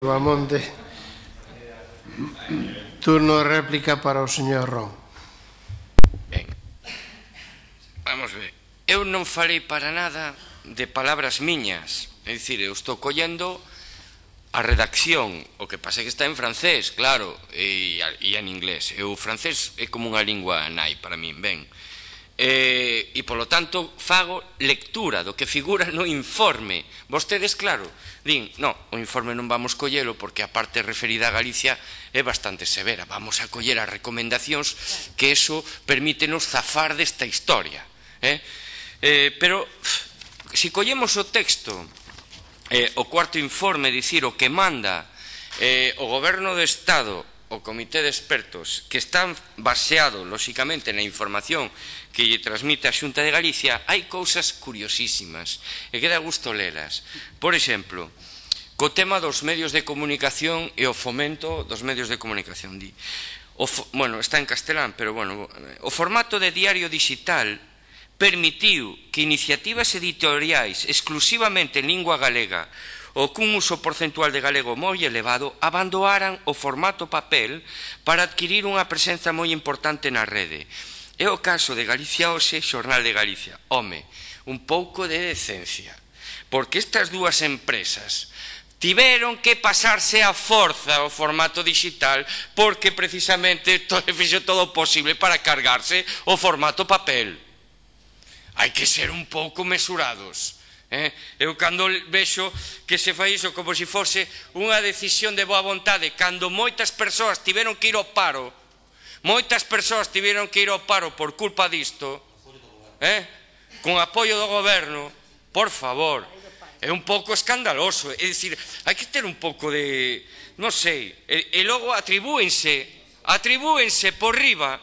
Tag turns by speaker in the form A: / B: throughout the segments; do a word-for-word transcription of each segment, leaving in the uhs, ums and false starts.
A: Bamonde. Turno de réplica para o señor Ron.
B: Ben, vamos ver. Eu non falei para nada de palabras miñas. É dicir, eu estou collendo a redacción. O que pasa é que está en francés, claro, e, e en inglés. E o francés é como unha lingua nai para min, ben. E, e polo tanto fago lectura do que figura no informe. Vostedes, claro, din, no, o informe non vamos collelo porque a parte referida a Galicia é bastante severa, vamos a coller as recomendacións que eso permítenos zafar desta historia, eh? Eh, pero si collemos o texto, eh, o cuarto informe, dicir, o que manda eh, o Goberno do Estado, o Comité de Expertos, que están baseado, lóxicamente, na información que lle transmite a Xunta de Galicia, hai cousas curiosísimas e que dá gusto lelas. Por exemplo, co tema dos medios de comunicación e o fomento dos medios de comunicación. Di, o, bueno, está en castelán, pero bueno, o formato de diario digital permitiu que iniciativas editoriais exclusivamente en lingua galega ou cun uso porcentual de galego moi elevado abandonaran o formato papel para adquirir unha presenza moi importante na rede. É o caso de Galicia Hoxe, Xornal de Galicia. Home, un pouco de decencia, porque estas dúas empresas tiveron que pasarse a forza ao formato digital porque precisamente fixo todo o posible para cargarse o formato papel. Hai que ser un pouco mesurados. Eh? Eu cando vexo que se fai iso como se fose unha decisión de boa vontade, cando moitas persoas tiveron que ir ao paro, moitas persoas tiveron que ir ao paro por culpa disto, eh? Con apoio do goberno, por favor, é un pouco escandaloso. É dicir, hai que ter un pouco de, non sei, e, e logo atribúense, atribúense por riba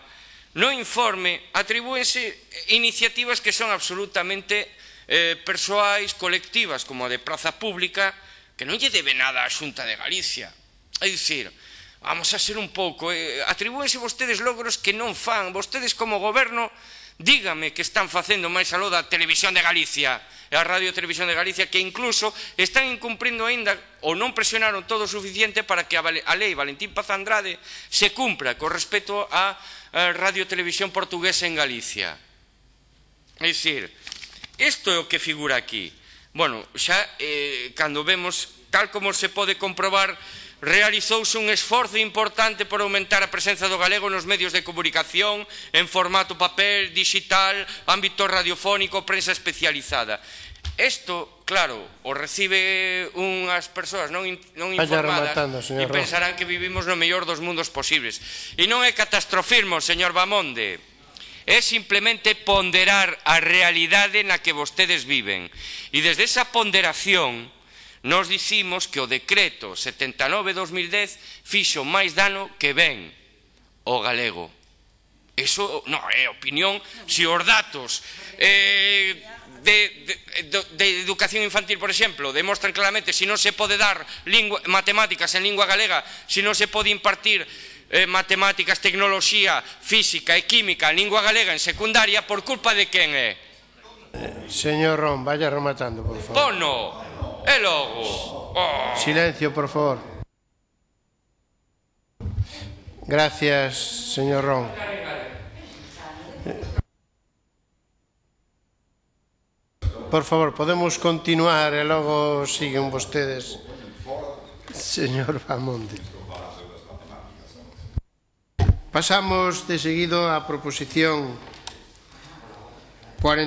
B: no informe, atribúense iniciativas que son absolutamente eh, persoais, colectivas, como a de Praza Pública, que non lle debe nada á Xunta de Galicia. É dicir, vamos a ser un pouco, eh, atribúense vostedes logros que non fan. Vostedes como goberno, dígame que están facendo máis aló da Televisión de Galicia e a Radio Televisión de Galicia, que incluso están incumprindo aínda ou non presionaron todo o suficiente para que a, a lei Valentín Paz Andrade se cumpra con respecto a, a Radio Televisión Portuguesa en Galicia. É dicir, isto é o que figura aquí. Bueno, xa eh, cando vemos, tal como se pode comprobar, realizouse un esforzo importante por aumentar a presenza do galego nos medios de comunicación en formato papel, digital, ámbito radiofónico, prensa especializada. Isto, claro, o recibe unhas persoas non, non informadas e pensarán que vivimos no mellor dos mundos posibles. E non é catastrofismo, señor Bamonde, é simplemente ponderar a realidade na que vostedes viven. E desde esa ponderación nos dicimos que o decreto setenta e nove barra dos mil dez fixo máis dano que ben o galego. Iso non é opinión. Se os datos eh, de, de, de educación infantil, por exemplo, demostran claramente se non se pode dar lingua, matemáticas en lingua galega, se non se pode impartir eh, matemáticas, tecnoloxía, física e química en lingua galega en secundaria, por culpa de quen é?
A: Eh, señor Ron, vaya rematando, por favor.
B: Pono! E logo. Oh.
A: Silencio, por favor. Gracias, señor Ron. Por favor, podemos continuar e logo siguen vostedes. Señor Bamonde. Pasamos de seguido á proposición cuarenta.